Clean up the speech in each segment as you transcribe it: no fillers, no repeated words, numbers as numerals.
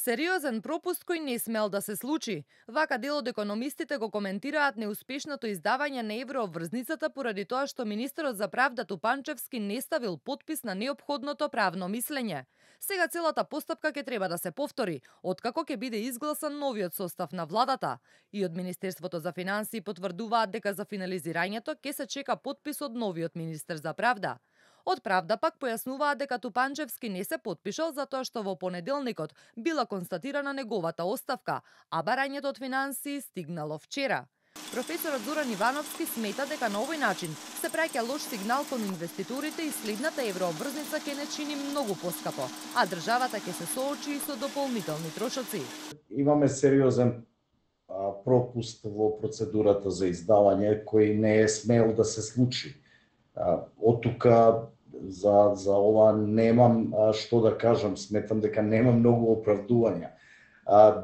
Сериозен пропуст кој не смел да се случи. Вака дел од економистите го коментираат неуспешното издавање на еврообврзницата поради тоа што министерот за правда Тупанчевски не ставил потпис на неопходното правно мислење. Сега целата постапка ќе треба да се повтори, откако ќе биде изгласан новиот состав на владата. И од Министерството за финансии потврдуваат дека за финализирањето ќе се чека потпис од новиот министер за правда. Од Правда пак појаснуваат дека Тупанчевски не се потпишал затоа што во понеделникот била констатирана неговата оставка, а барањето од финансии стигнало вчера. Професорот Зоран Ивановски смета дека на овој начин се праќа лош сигнал кон инвеститорите и следната еврообврзница ќе не чини многу поскапо, а државата ќе се соочи и со дополнителни трошоци. Имаме сериозен пропуст во процедурата за издавање кој не е смел да се случи. Од тука за ова немам што да кажам, сметам дека нема многу оправдувања.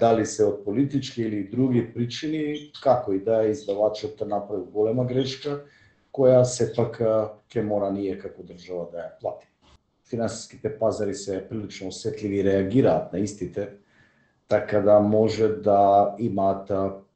Дали се од политички или други причини, како и да издавачот направи голема грешка, која сепак ќе мора ние како држава да ја плати. Финансиските пазари се прилично осетливи и реагираат на истите, така да може да имаат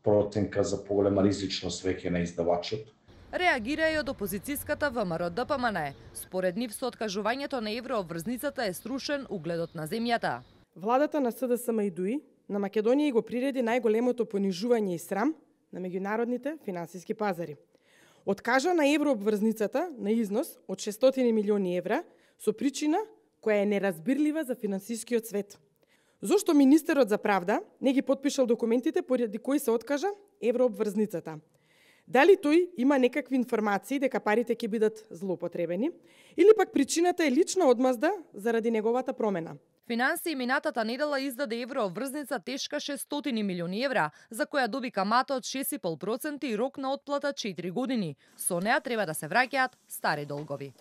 проценка за поголема ризичност веќе на издавачот. Реагира и од опозицијската ВМРО-ДПМН. Според нив со откажувањето на еврообврзницата е срушен угледот на земјата. Владата на СДСМ и ДУИ на Македонија го приреди најголемото понижување и срам на меѓународните финансиски пазари. Откажа на еврообврзницата на износ од 600 милиони евра со причина која е неразбирлива за финансискиот свет. Зошто министерот за правда не ги потпишал документите поради кои се откажа еврообврзницата? Дали тој има некакви информации дека парите ќе бидат злоупотребени или пак причината е лична одмазда заради неговата промена? Финансии минатата недела издаде еврообврзница тешка 600 милиони евра, за која доби камата од 6,5% и рок на отплата 4 години. Со неа треба да се враќаат стари долгови.